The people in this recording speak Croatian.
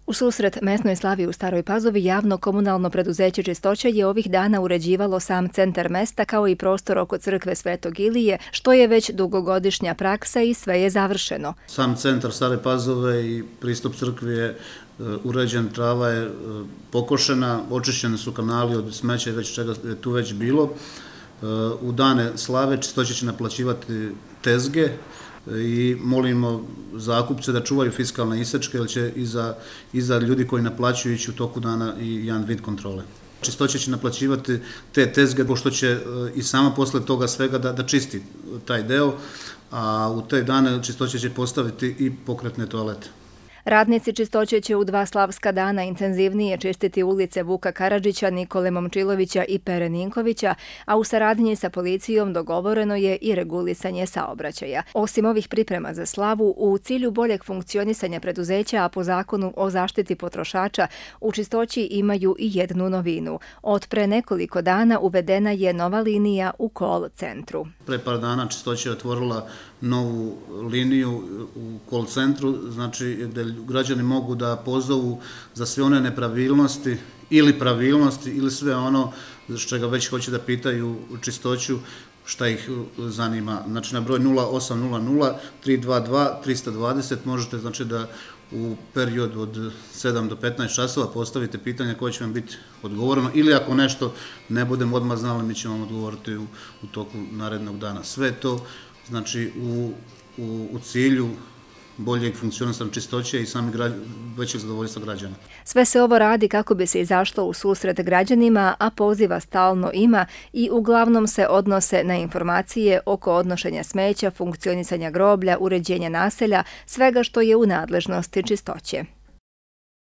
U susret mesnoj slavi u Staroj Pazovi javno komunalno preduzeće Čistoća je ovih dana uređivalo sam centar mesta kao i prostor oko crkve Svetog Ilije, što je već dugogodišnja praksa i sve je završeno. Sam centar Stare Pazove i pristup crkvi je uređen, trava je pokošena, očišćeni su kanali od smeća i već čega je tu već bilo. U dane slave Čistoća će naplaćivati tezge i molimo zakupce da čuvaju fiskalne isečke, jer će iza ljudi koji naplaćuju ići u toku dana i jedan vid kontrole. Čistoća će naplaćivati te tezge, pošto će i sama posle toga svega da čisti taj deo, a u te dane Čistoća će postaviti i pokretne toalete. Radnici Čistoće će u 2 slavska dana intenzivnije čistiti ulice Vuka Karadžića, Nikole Momčilovića i Pere Ninkovića, a u saradnji sa policijom dogovoreno je i regulisanje saobraćaja. Osim ovih priprema za slavu, u cilju boljeg funkcionisanja preduzeća, a po zakonu o zaštiti potrošača, u Čistoći imaju i jednu novinu. Od pre nekoliko dana uvedena je nova linija u call centru. Pre par dana Čistoća je otvorila novu liniju u call centru, znači gde građani mogu da pozovu za sve one nepravilnosti ili pravilnosti ili sve ono što već hoće da pitaju Čistoću šta ih zanima. Znači na broj 0800 322 320 možete znači da u periodu od 7 do 15 časova postavite pitanje koje će vam biti odgovoreno ili ako nešto ne budemo odmah znali, mi ćemo vam odgovoriti u toku narednog dana. Sve to znači u cilju boljeg funkcionisanja Čistoće i samih većeg zadovoljstva građana. Sve se ovo radi kako bi se izašlo u susret građanima, a poziva stalno ima i uglavnom se odnose na informacije oko odnošenja smeća, funkcionisanja groblja, uređenja naselja, svega što je u nadležnosti Čistoće.